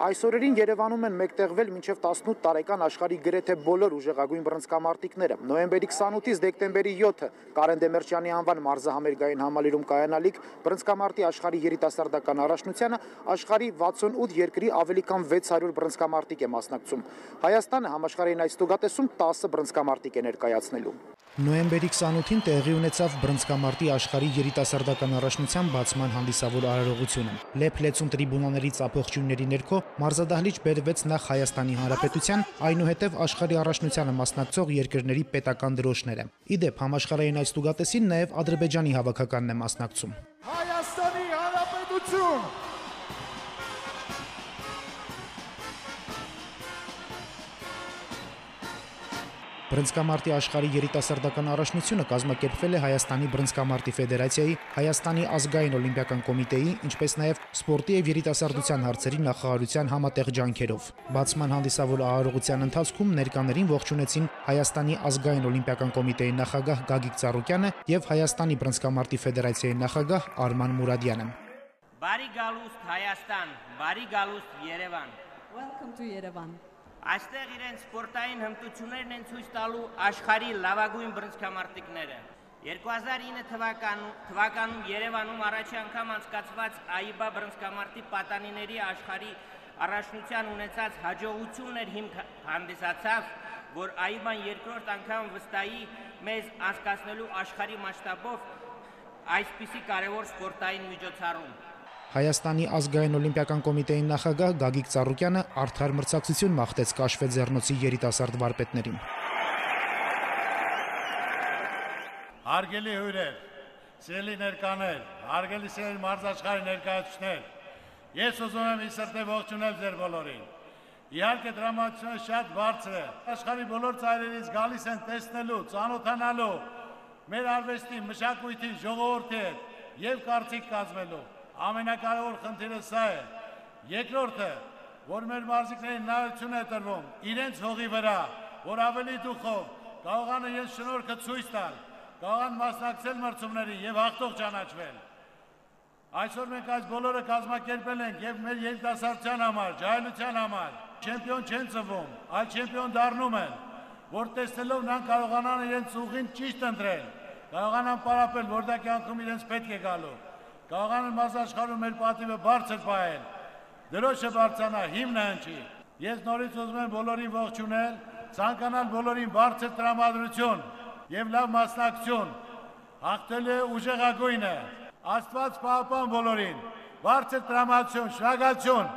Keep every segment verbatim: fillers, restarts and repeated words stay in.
Այսօրերին Երևանում են մեկտեղվել մինչև տասնութ տարեկան աշխարհի գրեթե բոլոր ուժեղագույն բռնցքամարտիկները։ Նոյեմբերի քսանութից դեկտեմբերի յոթը Կարեն Դեմիրճյանի անվան մարզահամերգային համալիրում կայանալիք բռնցքամարտի աշխարհի երիտասարդական առաջնությանը աշխարհի վաթսունութ երկրի ավելի քան վեց հարյուր բռնցքամարտիկ է մասնակցում։ Հայաստանը համաշխարհային այս ստուգատեսում տասը բռնցքամարտիկ է ներկայացնելու։ Նոյեմբերի քսանութին տեղի ունեցավ բռնցքամարտի աշխարհի երիտասարդական առաջնության բացման հանդիսավոր արարողությունը։ Լեփ-լեցուն տրիբունաների ծափողջույնների ներքո մարզադահլիճ բերվեց նախ Հայաստանի Հանրապետության, այնուհետև աշխարհի առաջնությանը մասնակցող երկրների պետական դրոշները։ Ի դեպ, համաշխարհային այս ստուգատեսին նաև Ադրբեջանի հավաքականն է մասնակցում։ Հայաստանի Հանրապետություն։ Բռնցքամարտի աշխարհի երիտասարդական առաջնությունը կազմակերպվել է Հայաստանի բռնցքամարտի ֆեդերացիայի, Հայաստանի ազգային օլիմպիական կոմիտեի, ինչպես նաև սպորտի եւ երիտասարդության հարցերի նախարարության համատեղ ջանքերով։ Բացման հանդիսավոր արարողության ընթացքում ներկաներին ողջունեցին Հայաստանի ազգային օլիմպիական կոմիտեի նախագահ Գագիկ Ծառուկյանը եւ Հայաստանի բռնցքամարտի ֆեդերացիայի նախագահ Արման Մուրադյանը։ Բարի գալուստ Հայաստան, բարի գալուստ Երևան։ Welcome to Yerevan. Այստեղ իրենց սպորտային հմտություններն են ցույց տալու աշխարհի լավագույն բռնցքամարտիկները։ երկու հազար ինը թվականում, թվականում Երևանում առաջի անգամ անցկացված ԱԻԲԱ բռնցքամարտի պատանիների աշխարհի առաջնության ունեցած հաջողություններ հիմք հանդիսացավ, որ ԱԻԲԱ-ն երկրորդ անգամ վստահի մեզ անցկացնելու աշխարհի մասշտաբով այսպիսի կարևոր սպորտային միջոցառում։ Հայաստանի ազգային օլիմպիական կոմիտեի նախագահ Գագիկ Ծառուկյանը արդար մրցակցություն մաղթեց Կաշվե ձեռնոցի երիտասարդ վարպետներին։ Հարգելի հյուրեր, սիրելի ներկաներ, հարգելի սիրելի մարզաշխարհի ներկայացուցիչներ, ես ուզում եմ ի սրտե ողջունել ձեր բոլորին։ Իհարկե դրամատուրգիան շատ բարձր է։ Աշխարհի բոլոր ծայրերից գալիս են տեսնելու, ծանոթանալու մեր արվեստի, մշակույթի, ժողովրդի հետ եւ կարծիք կազմելու։ Ամենակարևոր խնդիրը սա է։ Երկրորդը, որ մեր մարզիկներին նայություն է տրվում իրենց հողի վրա, որ ավելի դուխով կարողան իրենց շնորհքը ցույց տալ, կարողան մասնակցել մրցումներին եւ հաղթող ճանաչվել։ Այսօր մենք այս բոլորը կազմակերպել ենք եւ մեր երիտասարդության համար, ջահելության համար։ Չեմպիոն չեն ծնվում, այլ չեմպիոն դառնում են, որ տեսնելով նրանք կարողանան իրենց ուղին ճիշտ ընտրել, կարողանան պարապել, որտեղ կյանքում իրենց պետք է գալու։ Կարողանան մարզաշխարհում մեր պատիվը բարձր պահել, դրոշը բարձրանա, հիմնը հնչի։ Ես նորից ուզում եմ բոլորին ողջունել, ցանկանալ բոլորին բարձր տրամադրություն եւ լավ մասնակցություն։ Հաղթելու է ուժեղագույնը։ Աստված պահապան բոլորին, բարձր տրամադրություն, շնորհակալություն։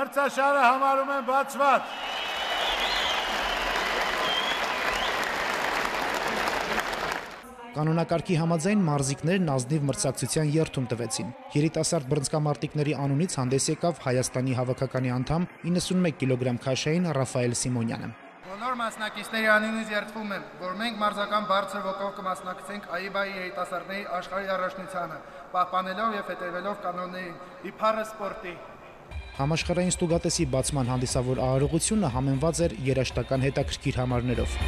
Մրցաշարը համարում եմ բացված։ Կանոնակարգի համաձայն մարզիկներն ազնիվ մրցակցության երթում տվեցին։ Երիտասարդ բռնցքամարտիկների անունից հանդես եկավ Հայաստանի հավաքականի անդամ իննսունմեկ կիլոգրամ քաշային Ռաֆայել Սիմոնյանը։ Բոլոր մասնակիցների անունից երդվում եմ, որ մենք մարզական բարձր ոգով կմասնակցենք ԱԻԲԱ-ի երիտասարդների աշխարհի առաջնությանը, պահպանելով եւ հետևելով կանոններին, իբարը սպորտի։ Համաշխարհային ստուգատեսի բացման հանդիսավոր արարողությունը համեմված էր երաժշտական հետաքրքիր համարներով։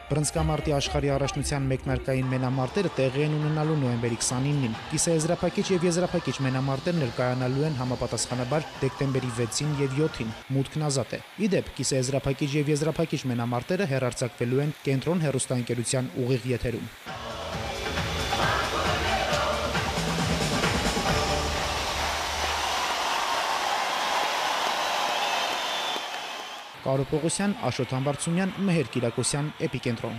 Բռնցքամարտի աշխարհի առաջնության մեկնարկային մենամարտերը տեղի են ունենալու նոյեմբերի քսանինին։ Կիսաեզրափակիչ եւ եզրափակիչ մենամարտեր ներկայանալու են համապատասխանաբար դեկտեմբերի վեցին եւ յոթին։ Մուտքն ազատ է։ Ի դեպ, կիսաեզրափակիչ եւ եզրափակիչ մենամարտերը հեռարձակվելու են Կենտրոն հեռուստաընկերության ուղիղ եթերում։ Կարո Պողոսյան, Աշոտ Համբարձումյան, Մեհեր Կիրակոսյան, Էպիկենտրոն։